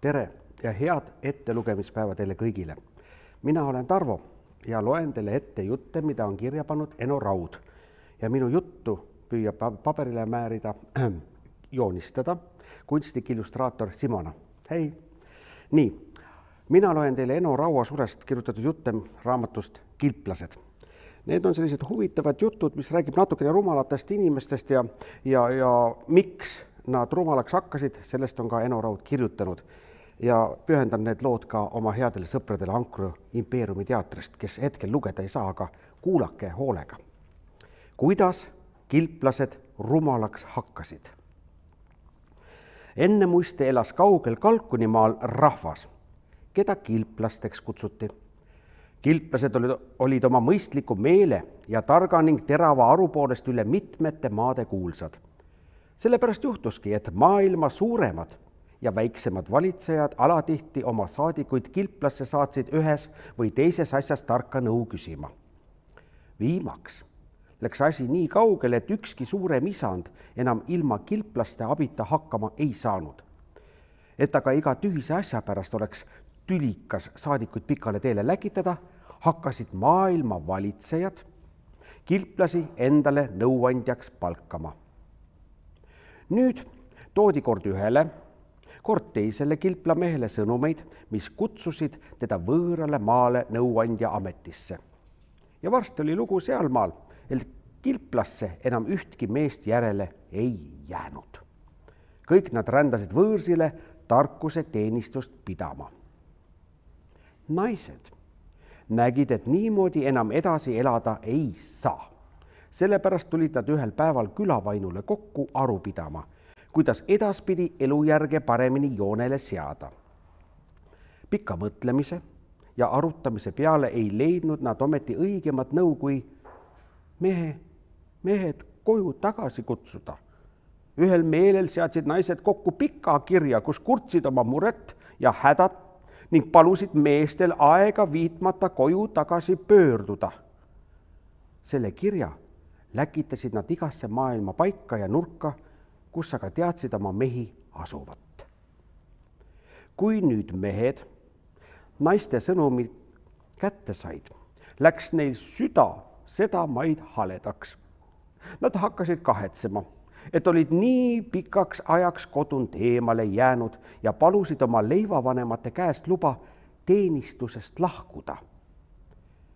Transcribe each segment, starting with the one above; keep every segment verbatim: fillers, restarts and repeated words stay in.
Tere ja head ettelugemispäeva teile kõigile. Mina olen Tarvo ja loen teile ette jutte, mida on kirja pannud Eno Raud. Ja minu juttu püüab paberile määrida, joonistada kunstnik illustraator Simona. Hei! Nii, mina loen teile Eno Raua surest kirjutatud jutte raamatust Kilplased. Need on sellised huvitavad jutud, mis räägib natukene rumalatest inimestest ja, ja, ja miks nad rumalaks hakkasid, sellest on ka Eno Raud kirjutanud. Ja pühendan need lood ka oma headele sõpradele Ankru Impeeriumi teatrist, kes hetkel lugeda ei saa, aga kuulake hoolega. Kuidas kilplased rumalaks hakkasid? Enne muiste elas kaugel Kalkunimaal rahvas, keda kilplasteks kutsuti. Kilplased olid, olid oma mõistliku meele ja targa ning terava arupoolest üle mitmete maade kuulsad. Sellepärast juhtuski, et maailma suuremad ja väiksemad valitsejad alatihti oma saadikuid kilplasse saatsid ühes või teises asjas tarka nõu küsima. Viimaks läks asi nii kaugele, et ükski suurem isand enam ilma kilplaste abita hakkama ei saanud. Et aga iga tühise asja pärast oleks tülikas saadikuid pikale teele läkitada, hakkasid maailma valitsejad kilplasi endale nõuandjaks palkama. Nüüd toodi kord ühele, kord teisele kilplamehele sõnumeid, mis kutsusid teda võõrale maale nõuandja ametisse. Ja varsti oli lugu sealmaal, et kilplasse enam ühtki meest järele ei jäänud. Kõik nad rändasid võõrsile tarkuse teenistust pidama. Naised nägid, et niimoodi enam edasi elada ei saa. Sellepärast tulid nad ühel päeval külavainule kokku aru pidama, kuidas edaspidi elujärge paremini joonele seada. Pika mõtlemise ja arutamise peale ei leidnud nad ometi õigemat nõu, kui mehe, mehed koju tagasi kutsuda. Ühel meelel seadsid naised kokku pika kirja, kus kurtsid oma muret ja hädat ning palusid meestel aega viitmata koju tagasi pöörduda. Selle kirja läkitasid nad igasse maailma paika ja nurka, kus aga teadsid oma mehi asuvat. Kui nüüd mehed naiste sõnumi kätte said, läks neil süda seda maid haledaks. Nad hakkasid kahetsema, et olid nii pikaks ajaks kodunt eemale jäänud ja palusid oma leivavanemate käest luba teenistusest lahkuda.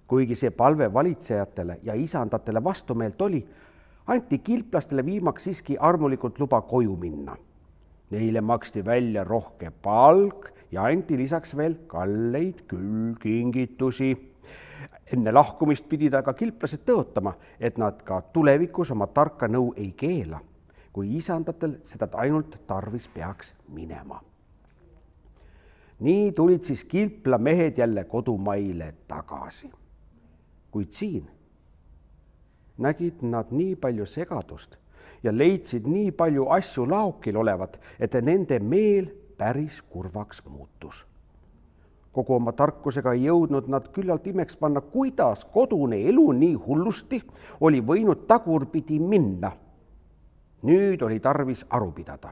Kuigi see palve valitsejatele ja isandatele vastumeelt oli, anti kilplastele viimaks siiski armulikult luba koju minna. Neile maksti välja rohke palk ja anti lisaks veel kalleid külkingitusi. Enne lahkumist pidid aga kilplased tõotama, et nad ka tulevikus oma tarka nõu ei keela, kui isandatel seda ainult tarvis peaks minema. Nii tulid siis kilplamehed jälle kodumaile tagasi. Kuid siin nägid nad nii palju segadust ja leidsid nii palju asju laokil olevat, et nende meel päris kurvaks muutus. Kogu oma tarkusega ei jõudnud nad küllalt imeks panna, kuidas kodune elu nii hullusti oli võinud tagurpidi minna. Nüüd oli tarvis aru pidada,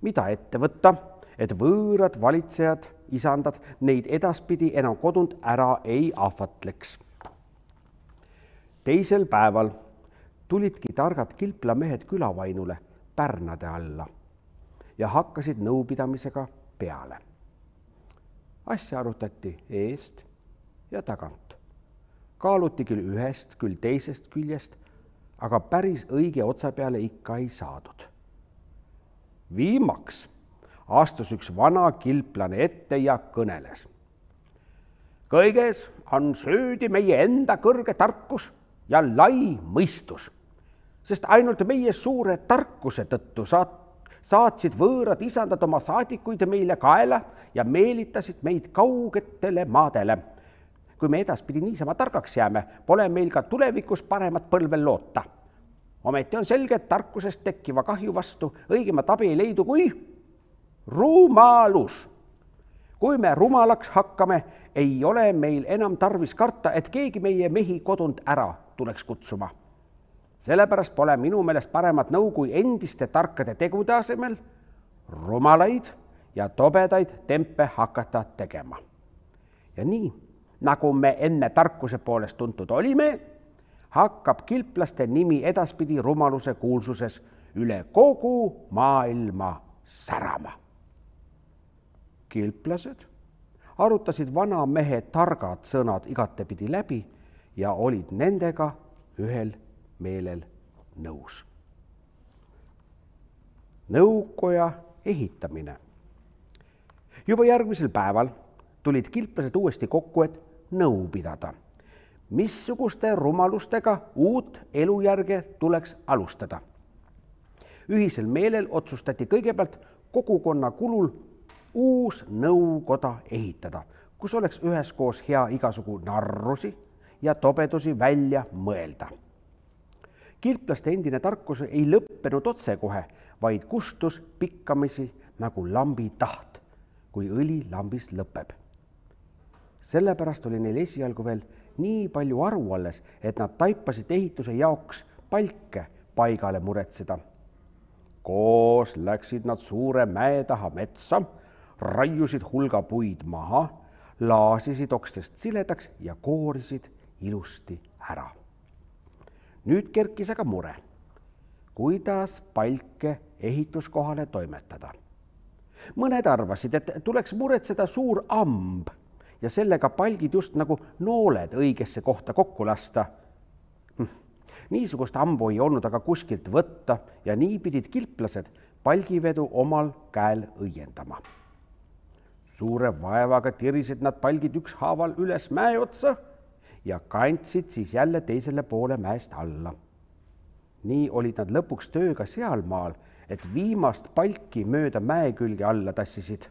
mida ette võtta, et võõrad valitsejad, isandad neid edaspidi enam kodunt ära ei ahvatleks. Teisel päeval tulidki targad kilplamehed külavainule pärnade alla ja hakkasid nõupidamisega peale. Asja arutati eest ja tagant. Kaaluti küll ühest, küll teisest küljest, aga päris õige otsa peale ikka ei saadud. Viimaks astus üks vana kilplane ette ja kõneles. Kõiges on süüdi meie enda kõrge tarkus ja lai mõistus, sest ainult meie suure tarkuse tõttu saat, saatsid võõrad isandad oma saadikuid meile kaela ja meelitasid meid kaugetele maadele. Kui me edaspidi niisama targaks jääme, pole meil ka tulevikus paremat põlvel loota. Ometi on selge, et tarkusest tekkiva kahju vastu õigemat abi ei leidu kui rumalus. Kui me rumalaks hakkame, ei ole meil enam tarvis karta, et keegi meie mehi kodunt ära tuleks kutsuma. Sellepärast pole minu meelest paremat nõu kui endiste tarkade tegude asemel rumalaid ja tobedaid tempe hakata tegema. Ja nii, nagu me enne tarkuse poolest tuntud olime, hakkab kilplaste nimi edaspidi rumaluse kuulsuses üle kogu maailma särama. Kilplased arutasid vana mehe targad sõnad igatepidi läbi ja olid nendega ühel meelel nõus. Nõukoja ehitamine. Juba järgmisel päeval tulid kilplased uuesti kokku, et nõu pidada. Missuguste rumalustega uut elujärge tuleks alustada. Ühisel meelel otsustati kõigepealt kogukonna kulul uus nõukoda ehitada, kus oleks üheskoos hea igasugu narrusi ja tobedusi välja mõelda. Kilplaste endine tarkus ei lõppenud otsekohe, vaid kustus pikkamisi nagu lambi taht, kui õli lambis lõpeb. Sellepärast oli neil esialgu veel nii palju aru alles, et nad taipasid ehituse jaoks palke paigale muretseda. Koos läksid nad suure mäe taha metsa, raiusid hulga puid maha, laasisid okstest siledaks ja koorisid ilusti ära. Nüüd kerkis aga mure, kuidas palke ehituskohale toimetada. Mõned arvasid, et tuleks muretseda suur amb ja sellega palgid just nagu nooled õigesse kohta kokku lasta. Niisugust ambu ei olnud aga kuskilt võtta ja nii pidid kilplased palgivedu omal käel õiendama. Suure vaevaga tirisid nad palgid ükshaaval üles mäe otsa ja kandsid siis jälle teisele poole mäest alla. Nii olid nad lõpuks tööga sealmaal, et viimast palki mööda mäe külge alla tassisid.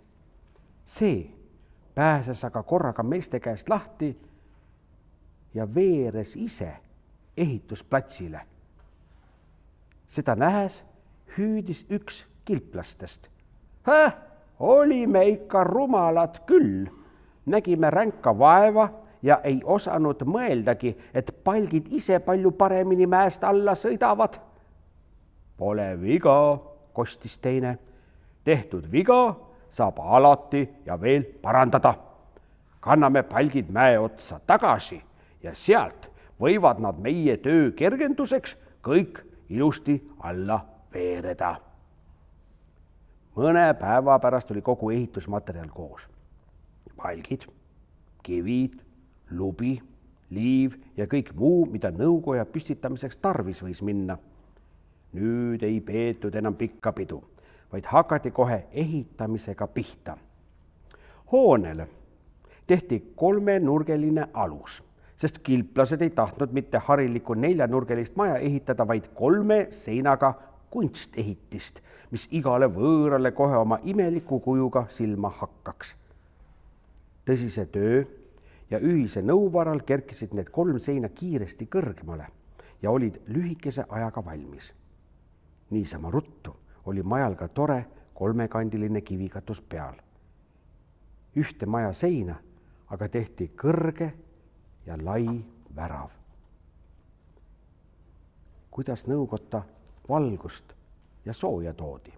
See pääses aga korraga meeste käest lahti ja veeres ise ehitusplatsile. Seda nähes hüüdis üks kilplastest. Häh, olime ikka rumalad küll. Nägime ränka vaeva ja ei osanud mõeldagi, et palgid ise palju paremini mäest alla sõidavad. Pole viga, kostis teine. Tehtud viga saab alati ja veel parandada. Kanname palgid mäe otsa tagasi ja sealt võivad nad meie töö kergenduseks kõik ilusti alla veereda. Mõne päeva pärast oli kogu ehitusmaterjal koos. Palgid, kivid, lubi, liiv ja kõik muu, mida nõukoja püstitamiseks tarvis võis minna. Nüüd ei peetud enam pikka pidu, vaid hakati kohe ehitamisega pihta. Hoonele tehti kolmenurgeline alus, sest kilplased ei tahtnud mitte harilikku neljanurgelist maja ehitada, vaid kolme seinaga kunstehitist, mis igale võõrale kohe oma imeliku kujuga silma hakkaks. Tõsise töö ja ühise nõuvaral kerkisid need kolm seina kiiresti kõrgemale ja olid lühikese ajaga valmis. Niisama ruttu oli majal ka tore kolmekandiline kivikatus peal. Ühte maja seina aga tehti kõrge ja lai värav. Kuidas nõukotta valgust ja sooja toodi?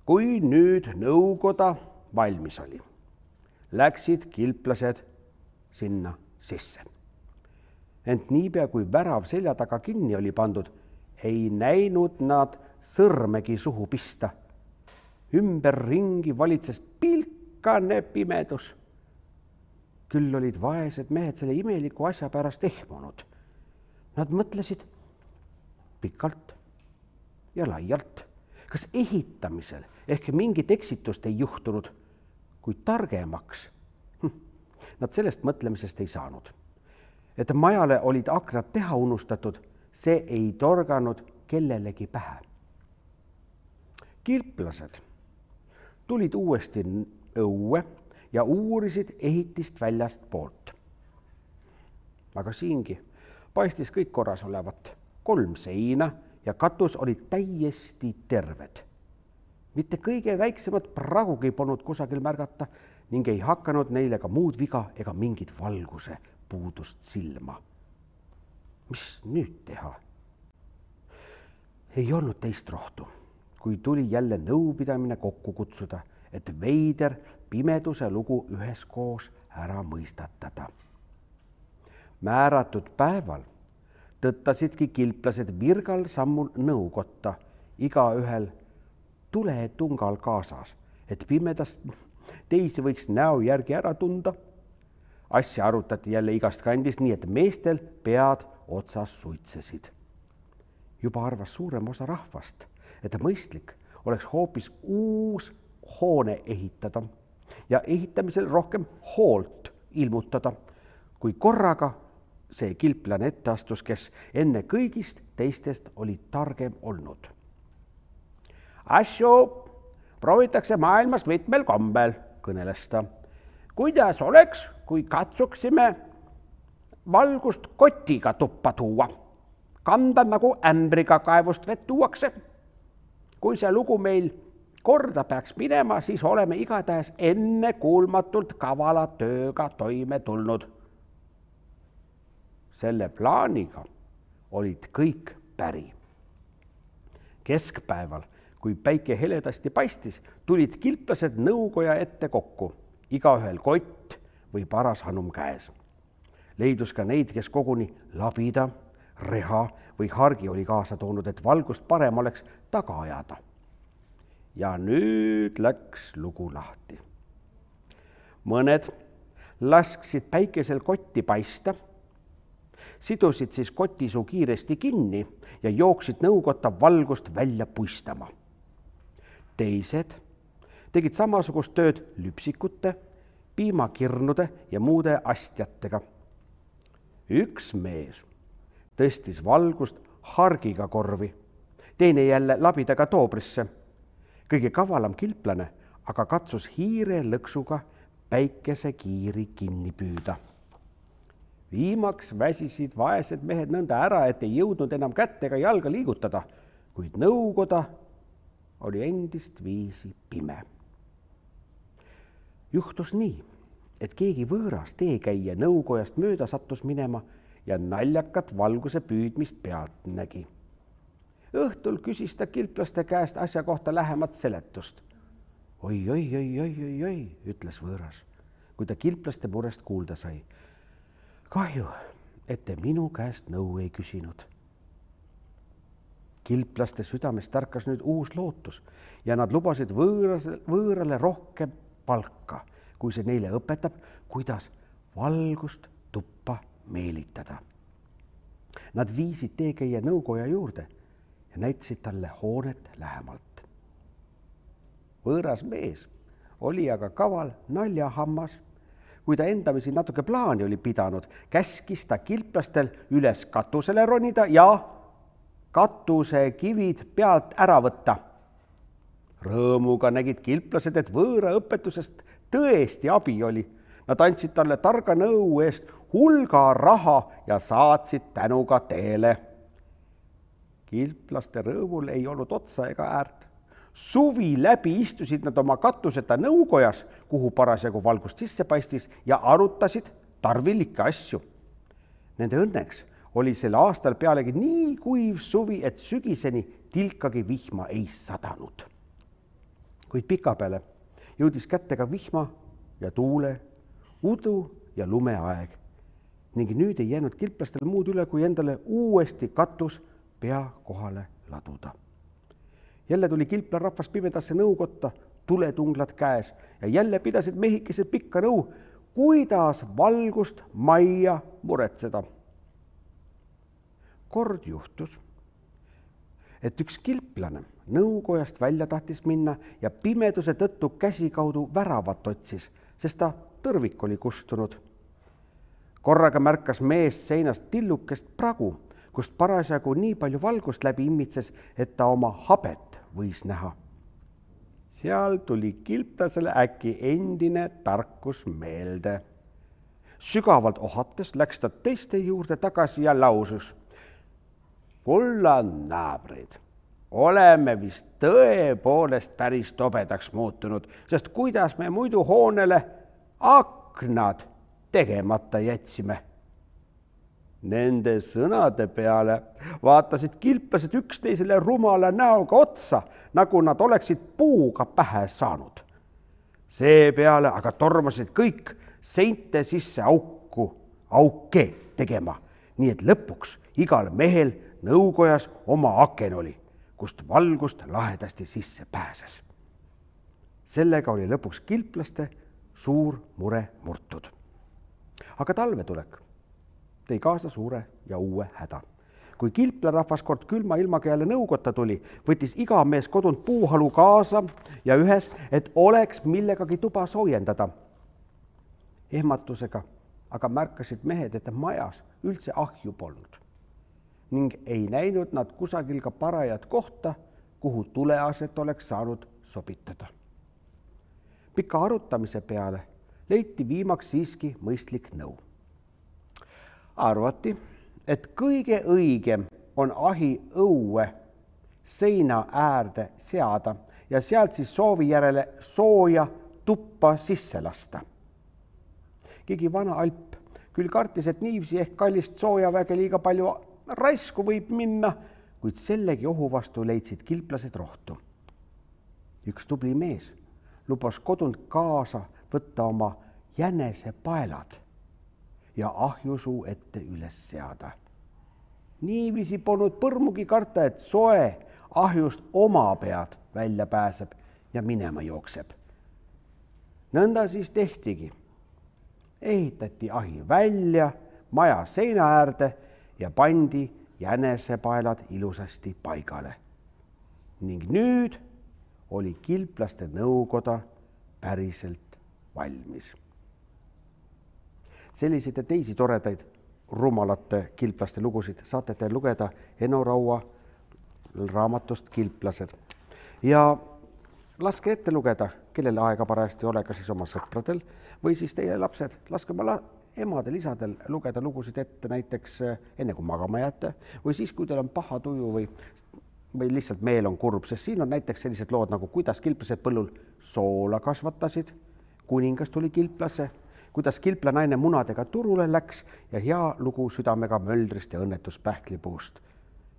Kui nüüd nõukoda valmis oli, läksid kilplased sinna sisse. Ent niipea kui värav selja taga kinni oli pandud, ei näinud nad sõrmegi suhu pista. Ümberringi valitses pilkane pimedus. Küll olid vaesed mehed selle imeliku asja pärast ehmunud. Nad mõtlesid pikalt ja laialt, kas ehitamisel ehk mingit eksitust ei juhtunud, kuid targemaks nad sellest mõtlemisest ei saanud. Et majale olid aknad teha unustatud, see ei torganud kellelegi pähe. Kilplased tulid uuesti õue ja uurisid ehitist väljast poolt. Aga siingi paistis kõik korras olevat. Kolm seina ja katus olid täiesti terved. Mitte kõige väiksemat pragugi polnud kusagil märgata ning ei hakanud neile ka muud viga ega mingit valguse puudust silma. Mis nüüd teha? Ei olnud teist rohtu, kui tuli jälle nõupidamine kokku kutsuda, et veider pimeduse lugu üheskoos ära mõistatada. Määratud päeval tõttasidki kilplased virgal sammul nõukotta, igaühel tuletungal kaasas, et pimedast teisi võiks näo järgi ära tunda. Asja arutati jälle igast kandist, nii et meestel pead otsas suitsesid. Juba arvas suurem osa rahvast, et mõistlik oleks hoopis uus hoone ehitada ja ehitamisel rohkem hoolt ilmutada, kui korraga see kilplane ette astus, kes enne kõigist teistest oli targem olnud. Asju proovitakse maailmas mitmel kombel, kõneles ta. Kuidas oleks, kui katsuksime valgust kotiga tuppa tuua, kanda nagu ämbriga kaevust vett tuuakse. Kui see lugu meil korda peaks minema, siis oleme igatahes enne kuulmatult kavala tööga toime tulnud. Selle plaaniga olid kõik päri. Keskpäeval, kui päike heledasti paistis, tulid kilplased nõukoja ette kokku, igaühel kott või paras hanum käes. Leidus ka neid, kes koguni labida, reha või hargi oli kaasa toonud, et valgust parem oleks taga ajada. Ja nüüd läks lugu lahti. Mõned lasksid päikesel kotti paista, sidusid siis kotisuu kiiresti kinni ja jooksid nõukotta valgust välja puistama. Teised tegid samasugust tööd lüpsikute, piimakirnude ja muude astjatega. Üks mees tõstis valgust hargiga korvi, teine jälle labidaga toobrisse. Kõige kavalam kilplane aga katsus hiire lõksuga päikese kiiri kinni püüda. Viimaks väsisid vaesed mehed nõnda ära, et ei jõudnud enam kätt ega jalga liigutada, kuid nõukoda oli endist viisi pime. Juhtus nii, et keegi võõras teekäija nõukojast mööda sattus minema ja naljakat valguse püüdmist pealt nägi. Õhtul küsis ta kilplaste käest asja kohta lähemat seletust. Oi, oi, oi, oi, oi, oi, ütles võõras, kui ta kilplaste murest kuulda sai. Kahju, et te minu käest nõu ei küsinud. Kilplaste südames tarkas nüüd uus lootus ja nad lubasid võõras, võõrale rohkem palka, kui see neile õpetab, kuidas valgust tuppa meelitada. Nad viisid teekäija nõukoja juurde ja näitasid talle hoonet lähemalt. Võõras mees oli aga kaval naljahammas. Kui ta endamisi natuke plaani oli pidanud, käskis ta kilplastel üles katusele ronida ja katuse kivid pealt ära võtta. Rõõmuga nägid kilplased, et võõra õpetusest tõesti abi oli. Nad andsid talle targa nõu eest hulga raha ja saatsid tänuga teele. Kilplaste rõõmul ei olnud otsa ega äärt. Suvi läbi istusid nad oma katuseta nõukojas, kuhu parasjagu valgust sisse paistis ja arutasid tarvilikke asju. Nende õnneks oli sel aastal pealegi nii kuiv suvi, et sügiseni tilkagi vihma ei sadanud. Kuid pikapeale jõudis kätte ka vihma ja tuule, udu ja lumeaeg ning nüüd ei jäänud kilplastel muud üle, kui endale uuesti katus pea kohale laduda. Jälle tuli kilpla rahvas pimedasse nõukotta, tuletunglad käes ja jälle pidasid mehikesed pikka nõu, kuidas valgust majja muretseda. Kord juhtus, et üks kilplane nõukojast välja tahtis minna ja pimeduse tõttu käsikaudu väravat otsis, sest ta tõrvik oli kustunud. Korraga märkas mees seinast tillukest pragu, kust parasjagu nii palju valgust läbi immitses, et ta oma habet võis näha. Seal tuli kilplasele äkki endine tarkus meelde. Sügavalt ohates läks ta teiste juurde tagasi ja lausus. Kulla naabrid, oleme vist tõepoolest päris tobedaks muutunud, sest kuidas me muidu hoonele aknad tegemata jätsime. Nende sõnade peale vaatasid kilplased üksteisele rumala näoga otsa, nagu nad oleksid puuga pähe saanud. Seepeale aga tormasid kõik seinte sisse auku, auke tegema, nii et lõpuks igal mehel nõukojas oma aken oli, kust valgust lahedasti sisse pääses. Sellega oli lõpuks kilplaste suur mure murtud. Aga talvetulek tõi kaasa suure ja uue häda. Kui kilplarahvas kord külma ilmaga jälle nõukotta tuli, võttis iga mees kodunt puuhalu kaasa ja ühes, et oleks millegagi tuba soojendada. Ehmatusega aga märkasid mehed, et majas üldse ahju polnud ning ei näinud nad kusagil ka parajat kohta, kuhu tuleaset oleks saanud sobitada. Pika arutamise peale leiti viimaks siiski mõistlik nõu. Arvati, et kõige õigem on ahi õue seina äärde seada ja sealt siis soovi järele sooja tuppa sisse lasta. Keegi vana alp küll kartis, et niivsi ehk kallist soojaväge liiga palju raisku võib minna, kuid sellegi ohu vastu leidsid kilplased rohtu. Üks tubli mees lubas kodunt kaasa võtta oma jänesepaelad ja ahjusuu ette üles seada. Niivisi polnud põrmugi karta, et soe ahjust oma pead välja pääseb ja minema jookseb. Nõnda siis tehtigi. Ehitati ahi välja maja seina äärde ja pandi jänesepaelad ilusasti paigale. Ning nüüd oli kilplaste nõukoda päriselt valmis. Selliseid ja teisi toredaid rumalate kilplaste lugusid saate te lugeda Eno Raua raamatust Kilplased. Ja laske ette lugeda, kellele aega parajasti ole, kas siis oma sõpradel või siis teie lapsed. Laske oma emadel, isadel lugeda lugusid ette näiteks enne kui magama jääte või siis, kui teil on paha tuju või, või lihtsalt meel on kurb, sest siin on näiteks sellised lood nagu kuidas kilplased põllul soola kasvatasid, kuningas tuli kilplase, kuidas kilplanaine munadega turule läks ja hea lugu südamega möldrist ja õnnetuspähklipuust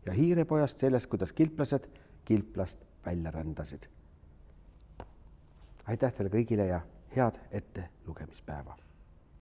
ja hiirepojast sellest, kuidas kilplased kilplast välja rändasid. Aitäh teile kõigile ja head ette lugemispäeva!